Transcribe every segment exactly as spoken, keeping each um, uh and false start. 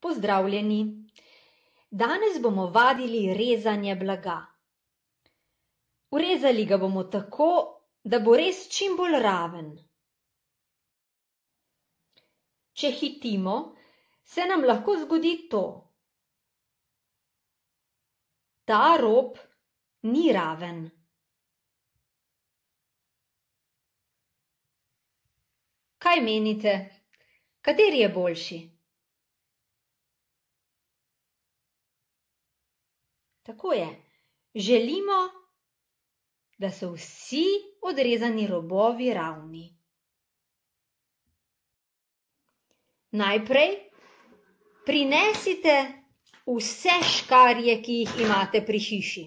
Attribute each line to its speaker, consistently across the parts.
Speaker 1: Pozdravljeni! Danes bomo vadili rezanje blaga. Urezali ga bomo tako, da bo res čim bolj raven. Če hitimo, se nam lahko zgodi to. Ta rob ni raven. Kaj menite, kateri je boljši? Tako je, želimo, da so vsi odrezani robovi ravni. Najprej prinesite vse škarje, ki jih imate pri hiši.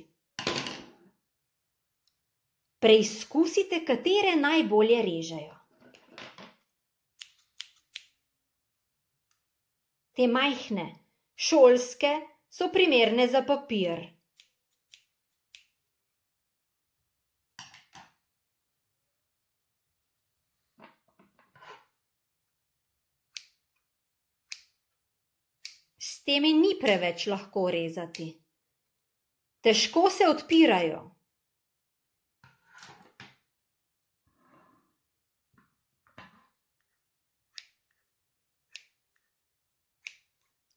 Speaker 1: Preizkusite, katere najbolje režejo. Te majhne, šolske, so primerne za papir. S temi ni preveč lahko rezati. Težko se odpirajo.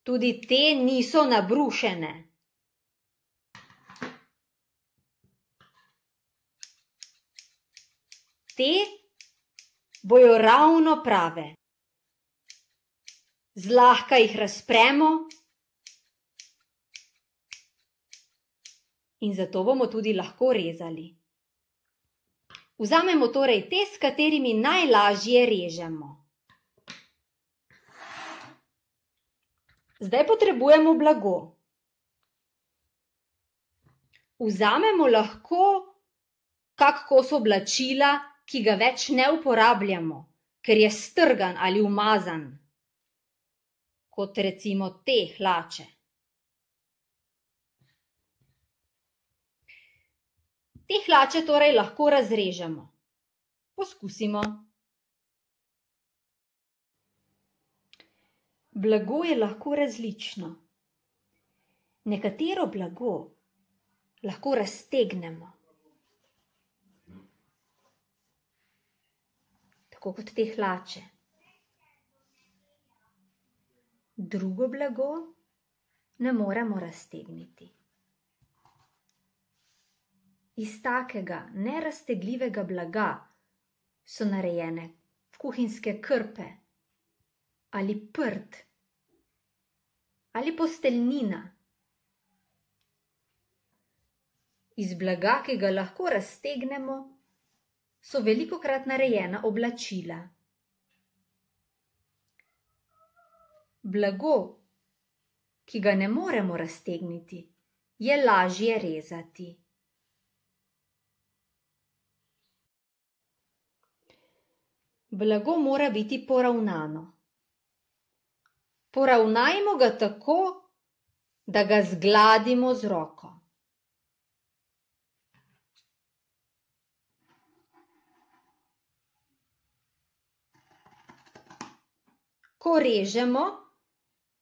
Speaker 1: Tudi te niso nabrušene. Te bojo ravno prave. Zlahka jih razpremo in zato bomo tudi lahko rezali. Vzamemo torej te, s katerimi najlažje režemo. Zdaj potrebujemo blago. Vzamemo lahko kak kos oblačila, ki ga več ne uporabljamo, ker je strgan ali umazan, kot recimo te hlače. Te hlače torej lahko razrežemo. Poskusimo. Blago je lahko različno. Nekatero blago lahko raztegnemo. Tako kot te hlače. Drugo blago ne moremo raztegniti. Iz takega neraztegljivega blaga so narejene kuhinjske krpe ali prt ali posteljnina. Iz blaga, ki ga lahko raztegnemo, so velikokrat narejena oblačila. Blago, ki ga ne moremo raztegniti, je lažje rezati. Blago mora biti poravnano. Poravnajmo ga tako, da ga zgladimo z roko. Ko režemo,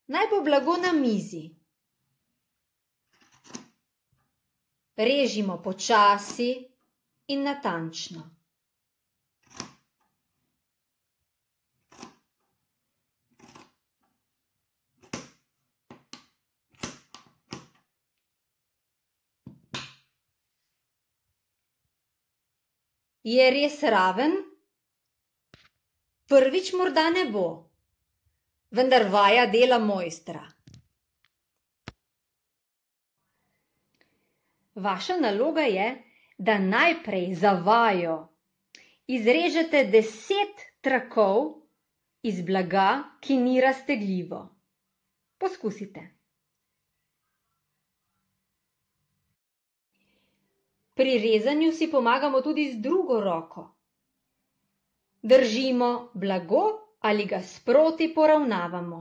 Speaker 1: naj bo blago na mizi. Režimo počasi in natančno. Je res raven? Prvič morda ne bo, vendar vaja dela mojstra. Vaša naloga je, da najprej za vajo izrežete deset trakov iz blaga, ki ni raztegljivo. Poskusite. Pri rezanju si pomagamo tudi z drugo roko. Držimo blago ali ga sproti poravnavamo.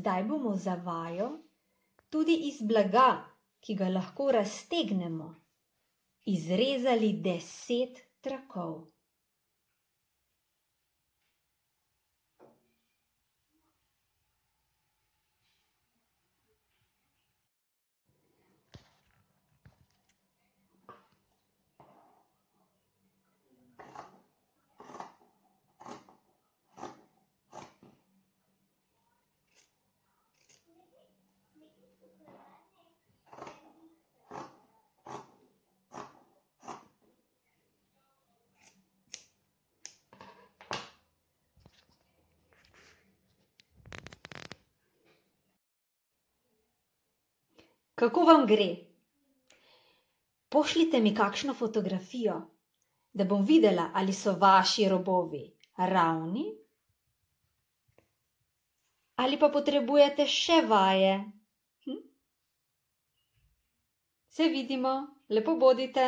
Speaker 1: Zdaj bomo za vajo tudi iz blaga, ki ga lahko raztegnemo, izrezali deset trakov. Kako vam gre? Pošljite mi kakšno fotografijo, da bom videla, ali so vaši robovi ravni ali pa potrebujete še vaje. Hm? Se vidimo, lepo bodite.